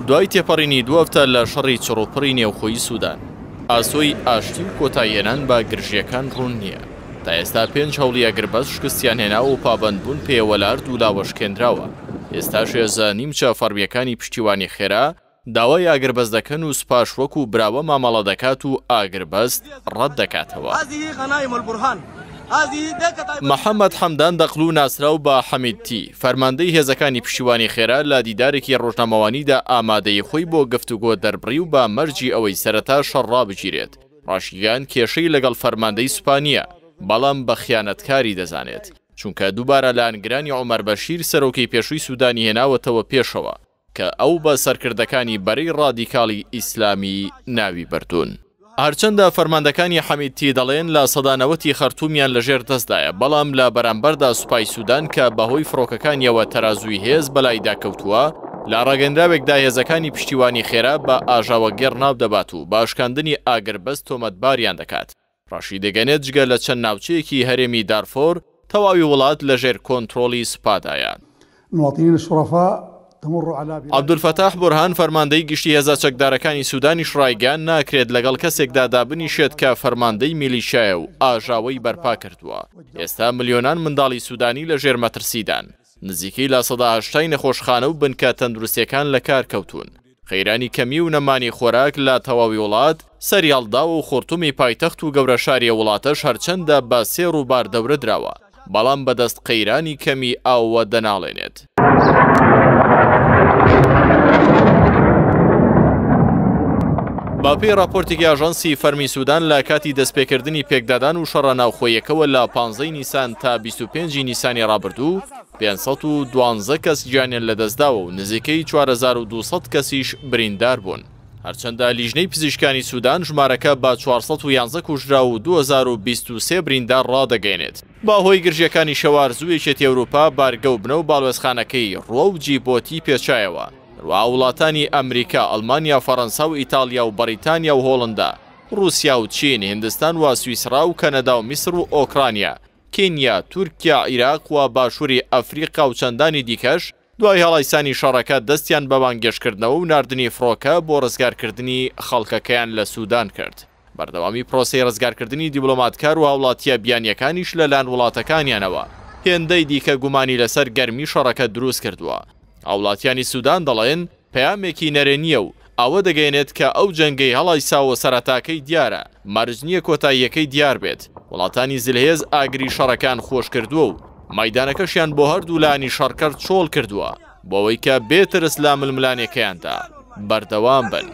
دوای تێپەڕینی دوو هەفتە لە شەڕی چڕوپڕی نێوخۆی سودان، ئاسۆی ئاشتی و کۆتاییهێنان بە گرژییەکان ڕوون نییە. تا ئێستا پێنج هەوڵی ئاگربەست شکستیان هێناوە و پابەندبوون پێیەوە لە هەردوولاوە شکێنراوە. ئێستاش هێزە نیمچە فەڕمییەکانی پشتیوانی خێرا داوای ئاگربەست دەکەن و سوپاش وەکو براوە مامەڵە دەکات و ئاگربەست ڕەت دەکاتەوە. محەمەد حەمدان دەقلو ناسراو بە حەمیدتی، فەرماندەی هێزەکانی پشتیوانی خێرا لە دیدارێکی ڕۆژنامەوانیدا ئامادەیی خۆی بۆ گفتوگۆ دەربڕی و بە مەرجی ئەوەی سەرەتا شەڕ ڕابگیرێت، ڕاشیگەیاند کێشەی لەگەڵ فەرماندەی سوپا نییە، بەڵام بە خیانەتکاری دەزانێت، چونکە دووبارە لایەنگرانی عومەر بەشیر سەرۆکی پێشووی سودانی هێناوەتەوە پێشەوە. کە ئەو بە سەرکردەکانی بەرەی ڕادیکاڵی ئیسلامی ناوی بردوون. هەرچەندە فەرماندەکانی حەمیدتی دەڵێن 90% ی خەرتومیان لەژێر دەستدایە، بەڵام لە بەرامبەردا سوپای سودان کە بەهۆی فڕۆکەکانیەوە تەرازووی هێز بەلایدا کەوتووە، لە ڕاگەندراوێکدا هێزەکانی پشتیوانی خێرا بە ئاژاوەگێڕ ناودەبات و بە شکاندنی ئاگربەست تۆمەتباریان دەکات. ڕاشیدەگەنێت جگە لە چەند ناوچەیەکی هەرێمی دارفۆر، تەواوی وڵات لەژێر کۆنترۆڵی سوپادایە. المواطنین الشرفاء تمر على بلاد. عەبدولفەتاح بورهان فەرماندەی گشتی هێزە چەکدارەکانی سودانیش ڕایگەیاند ناکرێت لەگەڵ کەسێکدا دابنیشێت کە فەرماندەی میلیشیایە و ئاژاوەی بەرپا کردووە. ئێستا ملیۆنان منداڵی سودانی لەژێر مەترسیدان. نزیکەی 80% ی نەخۆشخانە و بنکە تەندروستییەکان لەکار کەوتوون. قەیرانی کەمی و نەمانی خۆراک لە تەواوی وڵات سەریهەڵداوە و خورتومی پایتەخت و گەورە شاری ئەو وڵاتەش هەرچەندە بە سێ ڕووبار دەورە دراوە، بەڵام بەدەست قەیرانی کەمی ئاوەوە دەناڵێنێت. بەپێی ڕاپۆرتێکی ئاژانسی فەرمی سودان لە کاتی دەستپێکردنی پێکدادان و شەڕە ناوخۆییەکەوە لە 15 نیسان تا 25 نیسانی ڕابردوو، 512 کەس گیانیان لەدەستداوە و نزیکەی 4200 کەسیش بریندار بوون. هەرچەندە لیژنەی پزیشکانی سودان ژمارەکە بە 411 کوژراو و 2023 بریندار ڕادەگەیەنێت. بەهۆی گرژییەکانی شەوارزوو یەکێتی ئەوروپا بارگە و بنە و باڵوێزخانەکەی ڕووە و جیبۆتی پێچایەوە. هەروەها وڵاتانی ئەمریکا، ئەڵمانیا، فەڕەنسا و ئیتاڵیا و بەڕیتانیا و هۆڵندا، ڕووسیا و چین، هیندستان و سویسڕا و کەنەدا و میسڕ و ئۆکرانیا، کینیا، تورکیا، عیراق و باشووری ئەفریقا و چەندانی دیکەش دوای هەڵایسانی شەڕەکە دەستیان بە بانگێشتکردنەوە و ناردنی فڕۆکە بۆ ڕزگارکردنی خەڵکەکەیان لە سودان کرد. بەردەوامی پرۆسەی ڕزگارکردنی دیبلۆماتکار و هاوڵاتییە بیانییەکانیش لەلایەن وڵاتەکانیانەوە هێندەی دیکە گومانی لەسەر گەرمی شەڕەکە دروستکردووە. هاوڵاتیانی سودان دەڵێن، پەیامێکی نەرێنییە و ئەوە دەگەیەنێت کە ئەو جەنگەی هەڵایساوە سەرەتاکەی دیارە، مەرج نییە کۆتاییەکەی دیار بێت. وڵاتانی زلهێز ئاگری شەڕەکەیان خۆشکردووە و مەیدانەکەشیان بۆ هەردوو لایەنی شەڕکەر چۆڵ کردووە بۆ ئەوەی کە بێ ترس لە ململانێکەیاندا بەردەوام بن.